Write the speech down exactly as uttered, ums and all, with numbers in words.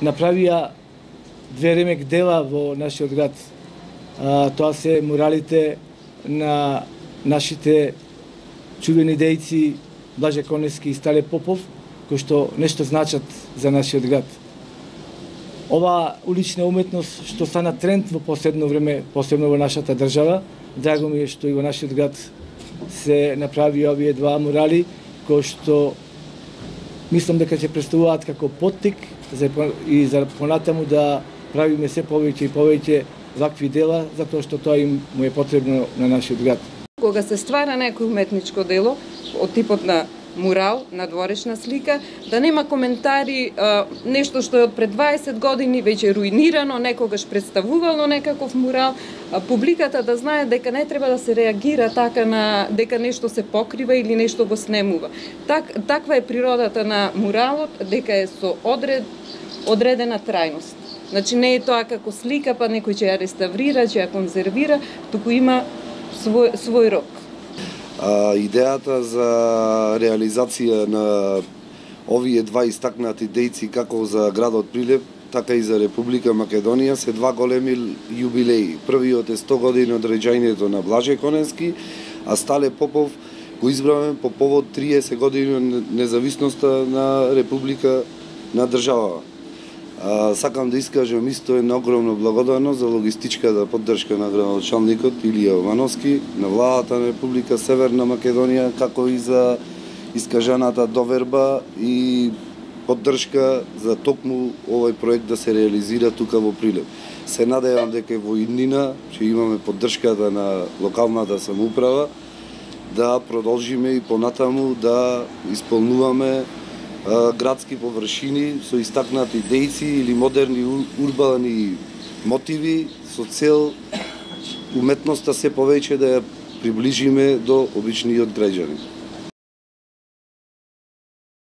направија две ремек дела во нашиот град. А, тоа се муралите на нашите чувени дејци Блаже Конески и Стале Попов, кои што нешто значат за нашиот град. Ова улична уметност што стана тренд во последно време, посебно во нашата држава, драго ми е што и во нашиот град се направи овие два мурали, кои што мислам дека ќе представуваат како поттик за, и за понатаму да правиме се повеќе и повеќе вакви дела, затоа што тоа им му е потребно на нашиот град. Кога се ствара некој уметничко дело од типот на мурал, надворешна слика, да нема коментари, нешто што е од пред дваесет години веќе руинирано, некогаш представувало некаков мурал, публиката да знае дека не треба да се реагира така на дека нешто се покрива или нешто го снемува. Так, таква е природата на муралот, дека е со одред, одредена трајност. Значи не е тоа како слика, па некој ќе ја реставрира, ќе ја конзервира, туку има свој, свој рок. А, идејата за реализација на овие два истакнати дејци како за градот Прилеп, така и за Република Македонија се два големи јубилеи. Првиот е сто години од роѓањето на Блаже Конески, а Стале Попов го избраваме по повод триесет години од независноста на Република на држава. А, сакам да искажам исто една огромна благодарност за логистичката поддршка на градоначалникот Илија Јовановски, на владата на Република Северна Македонија, како и за искажаната доверба и поддршка за токму овој проект да се реализира тука во Прилеп. Се надевам дека во иднина ќе имаме поддршката на локалната самоуправа да продолжиме и понатаму да исполнуваме градски површини со истакнати дејци или модерни урбани мотиви со цел уметноста се повеќе да ја приближиме до обичниот граѓанин.